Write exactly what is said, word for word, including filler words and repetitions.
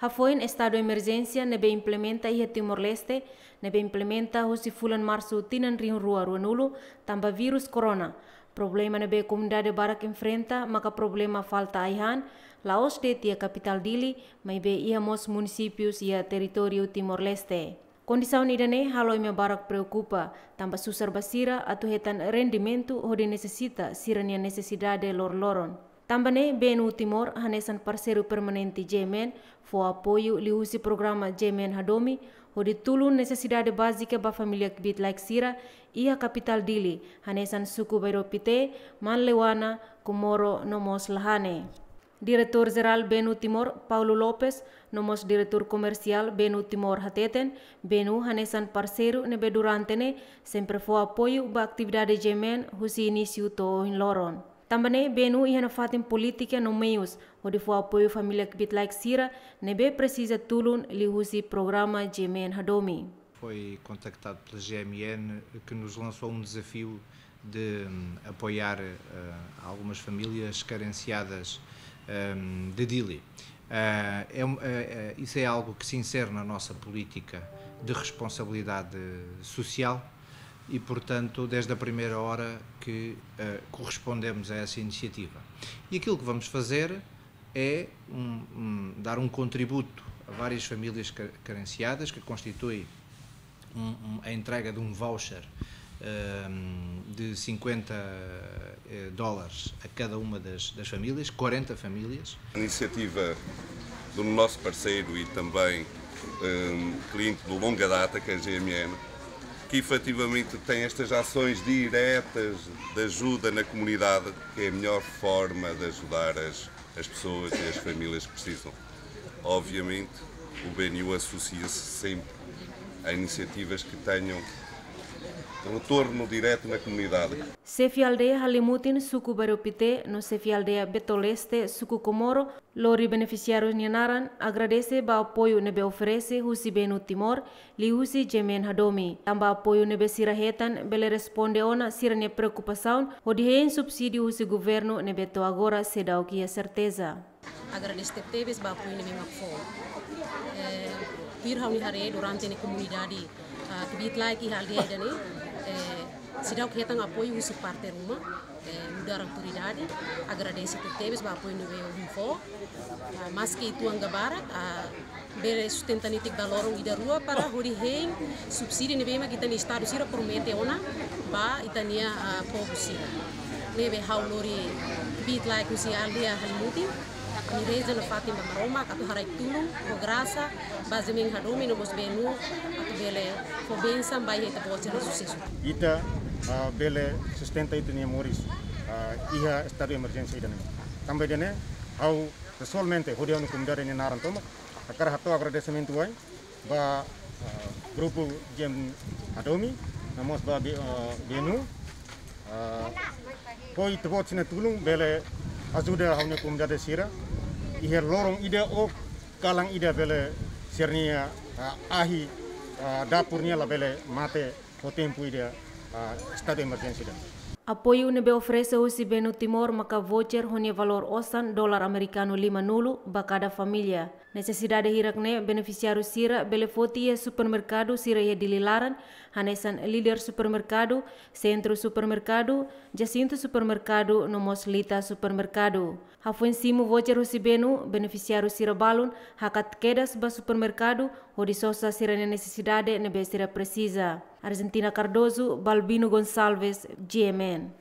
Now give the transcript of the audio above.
Hafoin estadu emerjénsia ne'ebé implementa iha Timor-Leste, ne'ebé implementa husi fulan Marsu tinan rihun rua ruanulu, tanba virus corona. Problema ne'ebé komunidade barak enfrenta maka problema falta ai-han, la'ós de'it iha kapitál Dili, maibé iha mós munisípius iha territóriu Timor-Leste. Kondisaun ida-ne'e halo ema barak preokupa, tanba susar ba sira atu hetan rendimentu hodi satisfás sira-nia nesesidade loroloron. Tanba ne'e, B N U Timor, hanesan parseiru permanente G M N, fó apoiu liuhusi programa G M N Hadomi, hodi tulun nesesidade bázika ba família kbiit-laek sira iha kapitál Dili, hanesan suku Bairro Pité, Manleuana, Comoro, no mós Lahane. Diretór Jerál B N U Timor, Paulo Lopes, no mós Diretór Komersiál B N U Timor hateten, B N U hanesan parseiru ne'ebé durante ne'e sempre fó apoiu ba atividade G M N husi inísiu to'o ohin loron. Tanba ne'e, B N U iha nafatin polítika no meius hodi fó apoiu família kbiit-laek sira ne'ebé presiza tulun liuhusi programa G M N Hadomi. Foi contactado pela G M N, que nos lançou um desafio de, hum, apoiar, eh, algumas famílias carenciadas, hum, de Dili. Eh, é um, eh, eh, isso é algo que se insere na nossa política de responsabilidade social e, portanto, desde a primeira hora que, eh, correspondemos a essa iniciativa. E aquilo que vamos fazer é um, um, dar um contributo a várias famílias ca-, carenciadas, que constitui um, um, a entrega de um voucher, ehm, de cinquenta, eh, dólares a cada uma das, das famílias, quarenta famílias. A iniciativa do nosso parceiro e também, ehm, cliente de longa data, que é a G M N, que efetivamente tem estas ações diretas de ajuda na comunidade, que é a melhor forma de ajudar as, as pessoas e as famílias que precisam. Obviamente, o B N U associa-se sempre a iniciativas que tenham retorno direto na comunidade. Xefe aldeia Halimutin, suku Bairro Pité, no xefe aldeia Beto Leste, suku Comoro, lori benefisiáriu nia naran, agradese ba apoiu ne'ebé oferese husi B N U Timor, liuhusi G M N Hadomi. Tanba apoiu ne'ebé sira hetan bele responde ona sira-nia preokupasaun hodi hein subsídiu husi governu ne'ebé to'o agora seidauk iha serteza. Agradese tebes ba apoiu ne'ebé mak fó. Eh, tuir ha'u-nia haree durante ne'e komunidade, ah, kbiit-laek iha aldeia ida-ne'e, eh, seidauk hetan apoiu husi parte ruma, eh, nu'udar autoridade. Agradese tebes ba apoiu ne'ebé ohin fó. Ah, maski uitoan ka barak, ah, bele sustenta netik ba loron ida rua para hodi hein subsídiu ne'ebé mak ita-nia estadu sira promete ona ba ita-nia, ah, povu sira. Ne'ebé ha'u lori kbiit-laek husi aldeia Halimutin, ami reza nafatin ba Maromak atu haraik tulun ho grasa ba G M N Hadomi no mós B N U atu bele fó bensaun ba iha ita-boot sira-nia susesu. Ita, ah, bele sustenta ita-nia moris, ah, iha estadu emerjénsia ida-ne'e. Tanba ida-ne'e, ha'u pesoalmente, hodi ha'u-nia komunidade nia naran tomak, hakarak hato'o agradesimentu wa'in ba, ah, grupu G M N Hadomi, no mós ba B-, ah, B N U, ah, ho ita-boot sira-nia tulun bele ajuda ha'u-nia komunidade sira iha loron ida ou kalan ida bele sira-nia, ah, ahi, ah, dapur nian labele mate ho tempu ida, ah, estadu emerjénsia ida. Apoiu ne'ebé oferese husi B N U Timor maka voucher ho nia valór osan dolar amerikanu limanulu ba kada família. Nesesidade hirak-ne'e benefisiáriu sira bele foti iha supermerkadu sira iha Dili laran, hanesan Líder Supermerkadu, Sentru Supermerkadu, Jacinto Supermerkadu, no mós Lita Supermerkadu. Hafoin simu voucher husi B N U, benefisiáriu sira balun hakat kedas ba supermerkadu hodi sosa sira-nia nesesidade ne'ebé sira presiza. Argentina Cardoso, Balbino Gonçalves, G M N.